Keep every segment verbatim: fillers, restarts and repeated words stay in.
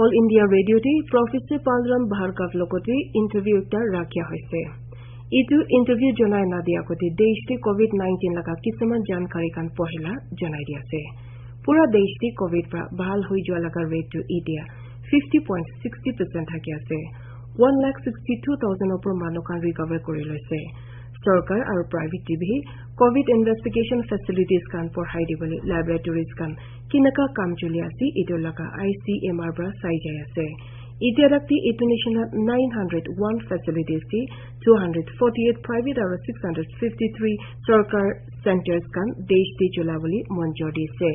All India Radio te Professor Balram Bhargava logote interview ekta rakhia hoise. Etu interview jonai na dia agote desh te covid nineteen laga kisuman jankari khan pohila jonai di ase. Pura desh te covid pra bahal hoi jua laga rate tu etia fifty point sixty percent thaki ase. One lakh sixty two thousand opor manu khan recover kuri loise. Sorkar aru private te bi covid investigation facilities khan porhai dibole laboratories khan kinaka kam choli ase, etu laga I C M R pra sai jai ase. Etia tak te etu nishina nine hundred one facilities te two hundred forty eight private aru six hundred fifty three sorkar centers khan desh te chola bole monjor dise.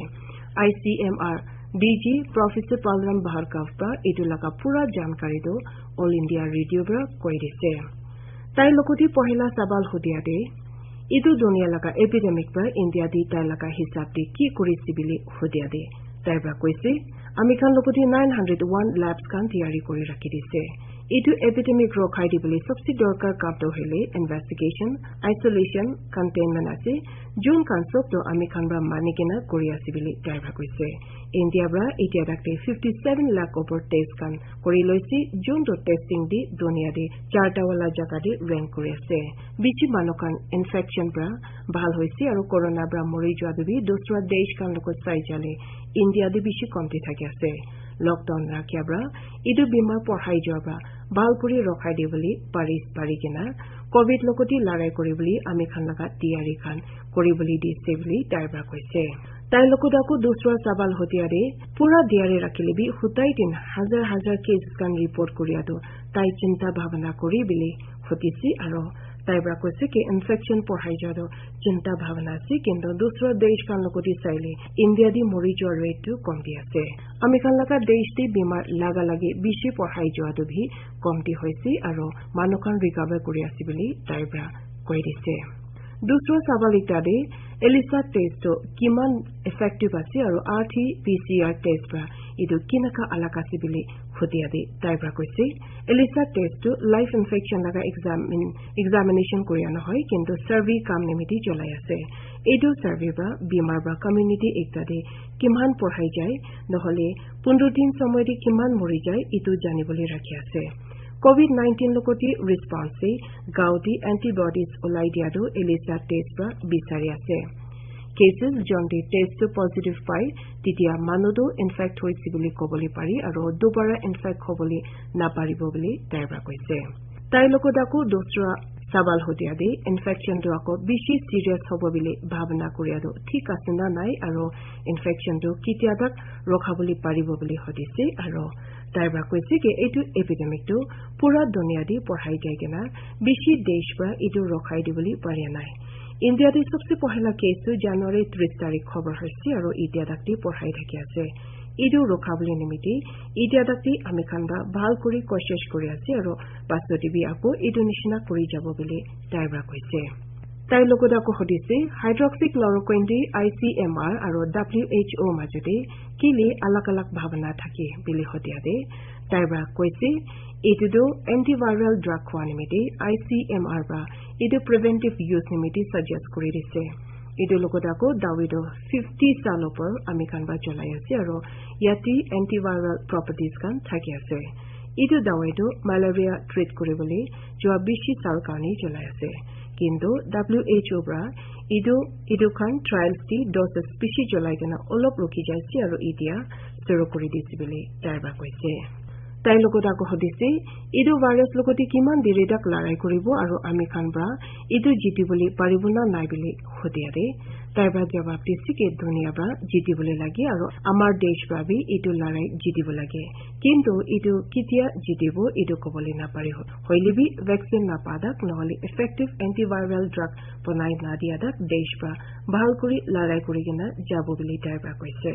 I C M R D G Professor Balram Bhargava pra etu laga pura jankari tu All India Radio pra koi dise. Tai logote pohila sabal hudia de, etu dunia laga epidemic pra India te tai laga hisab te ki kuri ase bili hudia de, tai pra koise, ami khan logote nine hundred one labs khan tiyari kuri rakhi dise. Etu epidemic rokhai dibole sabse dorkar kam to hoile investigation, isolation, containment ase, jun khan sob to ami khan pra mani kena kuri ase bili tai pra koise. India pra etia tak te fifty seven lakh opor test khan kuri loise, jun to testing te dunia te charta wala jaga te rank kuri ase. Bishi manu khan infection pra bahal hoise aru corona pra mori jua tu bi dusra desh khan logot sai jale India te bishi komti thaki ase. Lockdown rakhia pra etu bimar porhai jua pra bahal kuri rokhai de bole pari, pari kena covid logote larai kuri bole ami khan laga tiyari khan kuri bole dise bole tai pra koise. Tai logot ako dusra sabal hudia de, pura diari rakhile bi hutai din hajar hajar cases khan report kuria tu tai chinta bhabana kuri bili hudise aro tai pra koise ki infection porhai ja tu chinta bhabana ase, kintu dusra desh khan logote saile India te mori jua rate tu komti ase. Ami khan laga desh te bimar laga lagi bishi porhai jua tu bi komti hoise aro manu khan recover kuri ase bili tai pra koi dise. Dusra sabal ekta de ELISA test tu kiman effective ase aru R T P C R test pra etu kinaka alag ase bili hudia de tai pra koise. ELISA test tu live infection laga examine, examination kuria nohoi, kintu survey kam nimiti cholai ase. Etu survey pra bimar pra community ekta de kiman porhai jai, nohole pundro din somoy de kiman mori jai, etu jani bole rakhi ase. Covid nineteen logote response te gaon te antibodies ulai dia tu ELISA test pra bisari ase. Cases jon te test tu positive pai, titia manu tu infect hoise bole kobole pari aro dubara infect hobole naparibo bole tai pra koise. Tai logot ako dusra sabal hudia de infection tu ako bishi serious hobo bole bhabana kuria tu thik ase na nai aro infection tu kitia tak rokha bole paribo bole hudise aro tai pra koise ki etu epidemic tu pura dunia te porhai gai kena bishi desh pra etu rokhai dibole paria nai. India te sabse pohila case tu January tris tarik khobor hoise aro etia tak te porhai thaki ase. Etu rokha bole nimiti etia tak te ami khan pra bahal kuri koshish kuri ase aro pasot te bi ako etu nishina kuri jabo bole tai pra koise. Tai logot ako hudise, hydroxychloroquine te I C M R aro W H O majo te kile alag alag bhabana thake bili hudia de tai pra koise, etu tu antiviral drug hua nimiti I C M R pra etu preventive use nimiti suggest kuri dise. Etu logot ako dawai tu fifty saal opor ami khan pra cholai ase aro yate antiviral properties khan thaki ase. Etu dawai tu malaria treat kuri bole jua bishi saal karne cholai ase. Kintu W H O pra etu, etu khan trials te doses bishi cholai kena olop rukhi jai ase aro etia suru kuri dise bole tai pra koise. Tai logot ako hudise, etu virus logote kiman deri tak larai kuribo aro ami khan pra etu jiti bole paribo na nai bole hudia de tai pra jawab dise ki dunia pra jiti bole lage aro amar desh pra bi etu larai jiti bo lage. Kintu etu kitia jitibo etu kobole napare ho-, hoile bi vaccine napa tak nohole effective antiviral drug bonai na dia tak desh pra bahal kuri larai kuri kena jabo bole tai pra koise.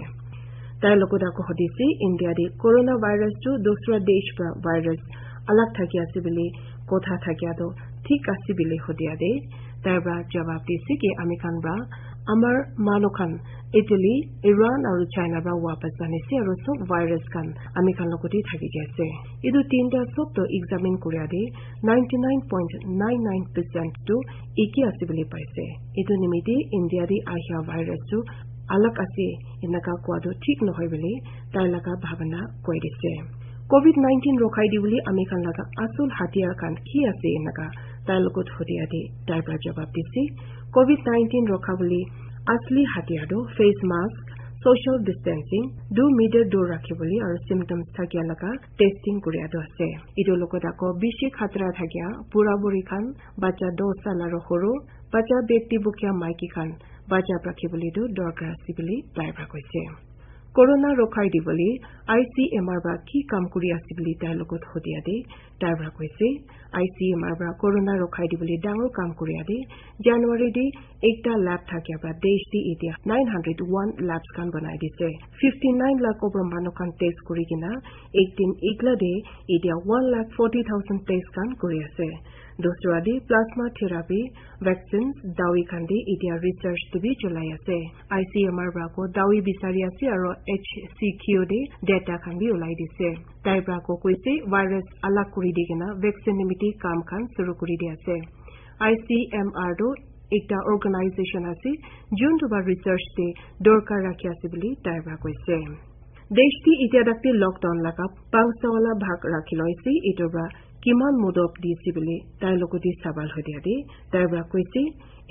Tai logot ako hudise, India te coronavirus tu dusra desh pra virus alag thaki ase bole kotha thakia tu thik ase bole hudia de tai pra jawab dise ki ami khan pra amar manu khan Italy, Iran aru China pra wapas anise aru sob virus khan ami khan logote thaki jai ase. Etu tinta sob to examine kuria te ninety nine point nine nine percent tu eke ase bole paise. Etu nimite India te ahia virus tu alag ase enaka koa tu thik nohoi bole tai laga bhabana koi dise. COVID nineteen rokhai dibole ami khan laga asul hatiar khan ki ase enaka tai logot hudia te tai pra jawab dise. COVID nineteen rokha bole asli hatiar tu face mask, social distancing, two meter dur rakhi bole aru symptoms thakia laga testing kuria tu ase. Etu logot ako bishi khatra thakia bura buri khan, bacha dos sal aru huru, bacha beti bukia maiki khan bacha rakhi bole tu dorkar ase bole tai pra koise. Corona rokhai dibole I C M R pra ki kam kuri ase bole tai logot hudia te tai pra koise. I C M R pra corona rokhai dibole dangor kam kuria te January te ekta lab thakia pra desh te etia nine hundred one labs khan banai dise. Fifty nine lakh opor manu khan test kuri kena ek din ekla te etia one lakh forty thousand test khan kuri ase. Dusra te plasma therapy, vaccines, dawi khan te etia research te bi cholai ase. I C M R pra ko dawi bisari ase aro H C Q te data khan bi ulai dise. Tai pra ko koise virus alag kuri di kena vaccine nimiti kam khan suru kuri di ase. I C M R tu ekta organization ase, jun tu ba research te dorkar rakhi ase bole tai pra koise. Desh te etia tak te lockdown laga pangsa wala bhag rakhi loise, etu pra kiman modop dise bole tai logot te sawal hudia te tai pra koise,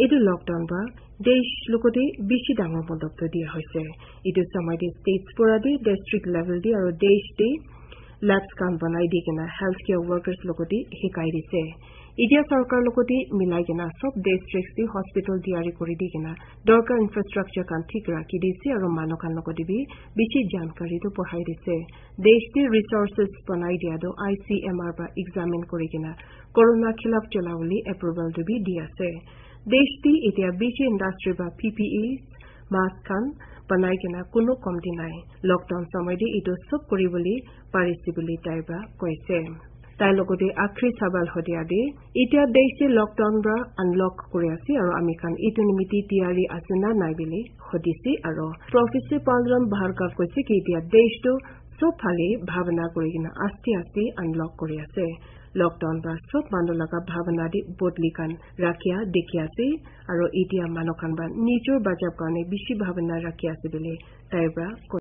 etu lockdown pra desh logot te bishi dangor modop tu dia hoise. Etu samai te states pura te district level te aru desh te labs khan banai di kena healthcare workers logot te hikai dise. Etia sarkar logot te milai kena sob districts te hospital tiyari kuri di kena dorkar infrastructure khan thik rakhi dise aru manu khan logot te bi bishi jankari tu pohai dise. Desh te resources banai dia tu I C M R pra examine kuri kena corona khilaf cholabole approval tu bi di ase. Desh te etia bishi industry pra P P E, mask khan banai kena kunu komti nai. Lockdown samay te etu sob kuri bole parise bole tai pra koise. Tai logot te akhri sawal hudia te, etia desh te lockdown pra unlock kuri ase aru ami khan etu nimiti tiyari ase na nai bole hudise aru Professor Balram Bhargava koise ki etia desh tu sob phale bhabana kuri kena aste aste unlock kuri ase. Lockdown pra sob manu laga bhabana te bodli khan rakhia dikhi ase aru etia manu khan pra nijor bachab karne bishi bhabana rakhi ase bole tai pra